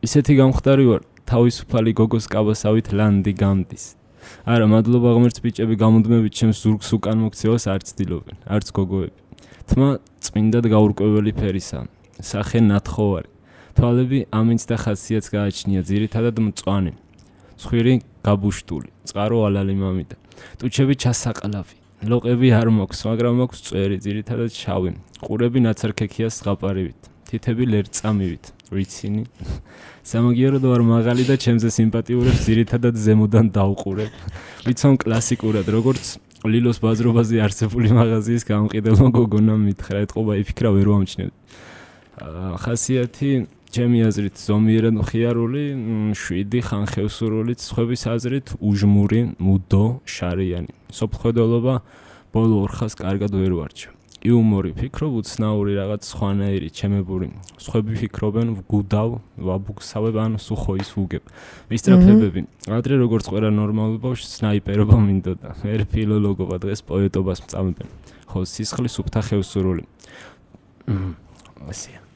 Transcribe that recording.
ისეთი გამხდარი ვარ, თავისუფალი გოგოს კაბასავით ლანდი გამდის. არა, მადლობა ღმერთს ბიჭები გამუდმებით ჩემს ზურგს უკან მოქცევას არ ცდილობენ, არც გოგოები. თმა წმინდად გაურკვეველი ფერისა, სახე ნათხოვარი. თვალები ამინც და ხასიათს გააჩნია, ძირითადად მწვანე. ცხვირი გაბუშტული, წყარო ალალი მამიდა. ტუჩები ჩასაყლავი. ლოყები არ მოქვს, მაგრამ მოქვს წვერი, ძირითადად შავი. ყურები ნაცარქექია ზღაპარივით. თითები ლერწამივით. რიცინი. სამაგიეროდ ვარ მაღალი და ჩემზე სიმპათიურებს ძირითადად ზემოდან დავყურებ. ვიცან კლასიკურად, როგორც ლილოს ბაზრობაზე არსებული მაღაზიის გამყიდელმა გოგონამ მითხრა, ეთყობა იფიქრა ვერ ვამჩნევ. ხასიათი ჩემი აზრით ზომიერად მხიარული, 7 ხანხევსურული, სხვების აზრით უჟმური, მუდო, შარიანი. სოფლხედველობა ბოლო 4 ხანს კარგად ვერ ვარჩევ. იუმორი ფიქრობ, უცნაური რაღაც სხვანაირი, ჩემებური. სხვები ფიქრობენ, ვგუდავ, ვაბუგსავებ ან სუხოის ვუგებ. მისტრაფებები. ადრე როგორც ყველა ნორმალურ ბავშვს სნაიპერობა მინდოდა. ვერ ფილოლოგობა, დღეს პოეტობას მწამებენ. ხო, სისხლის უფთა ხევსურული. ასია.